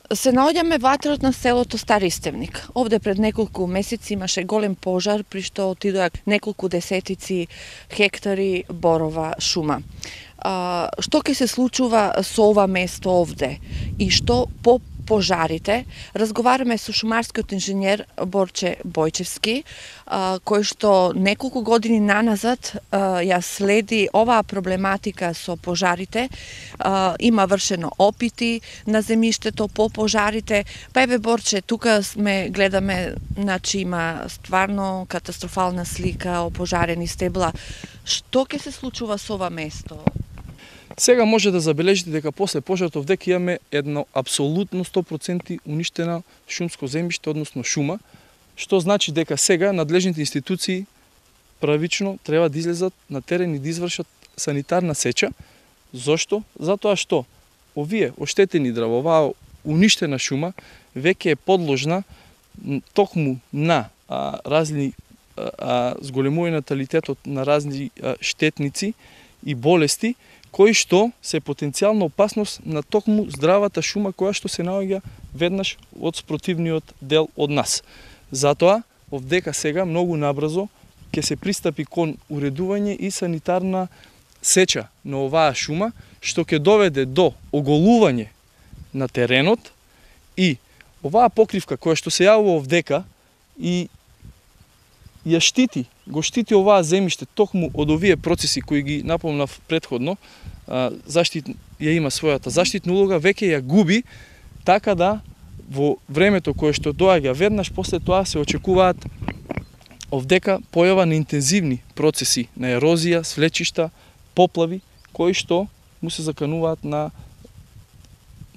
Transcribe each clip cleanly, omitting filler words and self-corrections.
Се наоѓаме во атерот на селото Стари Истевник. Овде пред неколку месеци имаше голем пожар, при што отидоа неколку десетици хектари борова шума. Што ќе се случува со ова место овде и што по пожарите? Разговараме со шумарскиот инженер Борче Бојчевски, кој што неколку години наназад ја следи оваа проблематика со пожарите. Има вршено опити на земјиштето по пожарите. Па еве Борче, тука гледаме, значи има стварно катастрофална слика, опожарени стебла. Што ќе се случува со ова место? Сега може да забележите дека после пожарот овде ќе имаме едно апсолутно 100% уништена шумско земјиште, односно шума, што значи дека сега надлежните институции правично треба да излезат на терен и да извршат санитарна сеча. Зошто? Затоа што овие оштетени дрва, оваа уништена шума веќе е подложна токму на разни зголемување наталитетот на разни штетници и болести, кои што се потенцијална опасност на токму здравата шума која што се наоѓа веднаш од спротивниот дел од нас. Затоа, овдека сега многу набрзо ќе се пристапи кон уредување и санитарна сеча на оваа шума, што ќе доведе до оголување на теренот и оваа покривка која што се јавува овдека и ја го штити оваа земјиште токму од овие процеси кои ги напомнав претходно, ја има својата заштитна улога, веќе ја губи, така да во времето кое што доаѓа веднаш после тоа се очекуваат овдека појава на интензивни процеси на ерозија, свлечишта, поплави, кои што му се закануваат на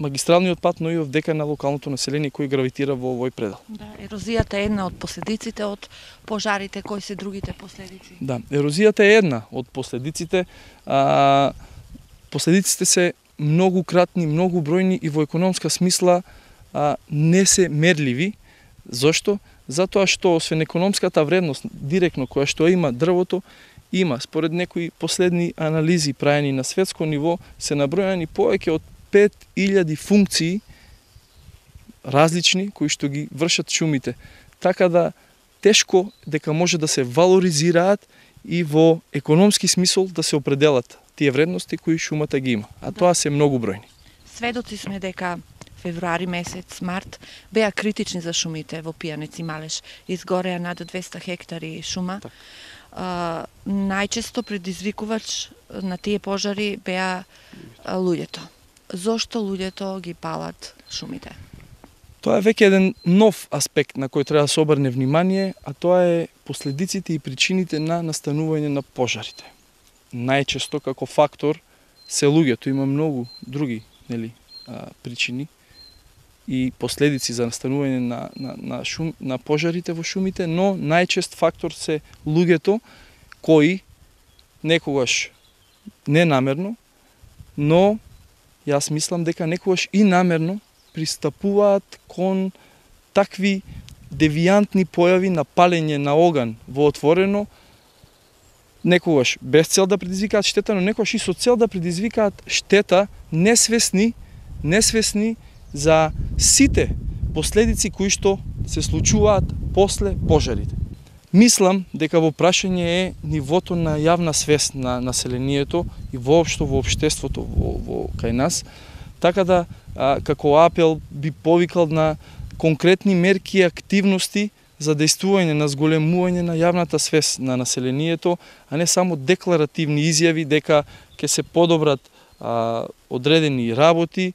магистралниот пат, но и овдека на локалното население кој гравитира во овој предел. Да, ерозијата е една од последиците од пожарите, кои се другите последици? Да, ерозијата е една од последиците. Последиците се многу кратни, многу бројни и во економска смисла не се мерливи. Зошто? Затоа што освен економската вредност директно која што има дрвото, има според некои последни анализи праени на светско ниво се набројани повеќе од 5000 функции различни кои што ги вршат шумите. Така да тешко дека може да се валоризираат и во економски смисол да се определат тие вредности кои шумата ги има. А тоа се многу бројни. Сведоци сме дека февруари месец, март, беа критични за шумите во Пијанец и Малеш. Изгореа над 200 хектари шума. Најчесто предизвикувач на тие пожари беа луѓето. Зошто луѓето ги палат шумите? Тоа е веќе еден нов аспект на кој треба да се обрне внимание, а тоа е последиците и причините на настанување на пожарите. Најчесто како фактор се луѓето, има многу други причини и последици за настанување на пожарите во шумите, но најчест фактор се луѓето кои некогаш ненамерно, но јас мислам дека некогаш и намерно пристапуваат кон такви девијантни појави на палење на оган во отворено, некогаш без цел да предизвикаат штета, но некогаш и со цел да предизвикаат штета, несвесни за сите последици кои што се случуваат после пожарите. Мислам дека во прашање е нивото на јавна свест на населението и воопшто во општеството во кај нас, така да како апел би повикал на конкретни мерки и активности за дејствување на зголемување на јавната свест на населението, а не само декларативни изјави дека ќе се подобрат одредени работи,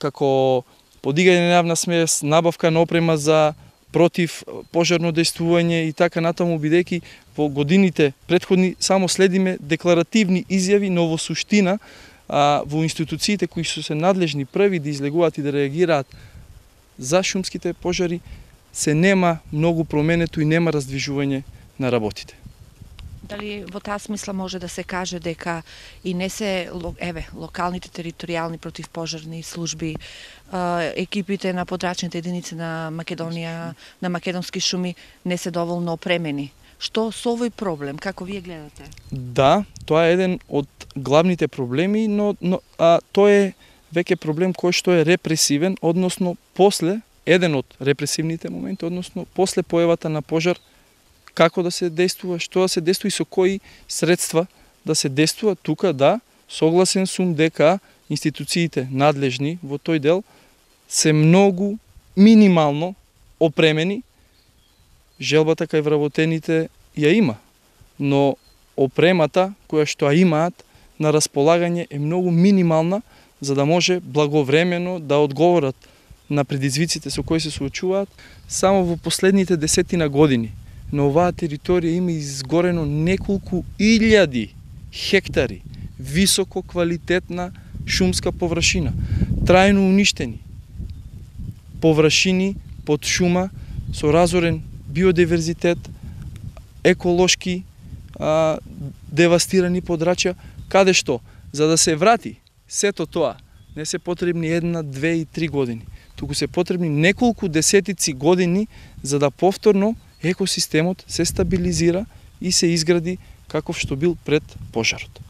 како подигање на јавна свест, набавка на опрема за против пожарно дејствување и така натаму, бидејќи во годините претходни само следиме декларативни изјави, но во суштина во институциите кои се надлежни први да излегуваат и да реагираат за шумските пожари се нема многу променето и нема раздвижување на работите. Дали во таа смисла може да се каже дека и не се локалните територијални противпожарни служби, екипите на подрачните единици на Македонија, на македонски шуми не се доволно опремени? Што со овој проблем, како вие гледате? Да, тоа е еден од главните проблеми, но тоа е веќе проблем кој што е репресивен, односно после, еден од репресивните моменти, односно после појавата на пожар, како да се действува, што да се действува и со кои средства да се действува. Тука да, согласен сум дека институциите надлежни во тој дел се многу минимално опремени. Желбата кај вработените ја има, но опремата која што ја имаат на располагање е многу минимална за да може благовремено да одговорат на предизвиците со кои се соочуваат. Само во последните 10 години на оваа територија има изгорено неколку илјади хектари високо квалитетна шумска површина, трајно уништени површини под шума со разорен биодиверзитет, еколошки девастирани подрачја, каде што за да се врати сето тоа не се потребни 1, 2 и 3 години, туку се потребни неколку десетици години за да повторно екосистемот се стабилизира и се изгради каков што бил пред пожарот.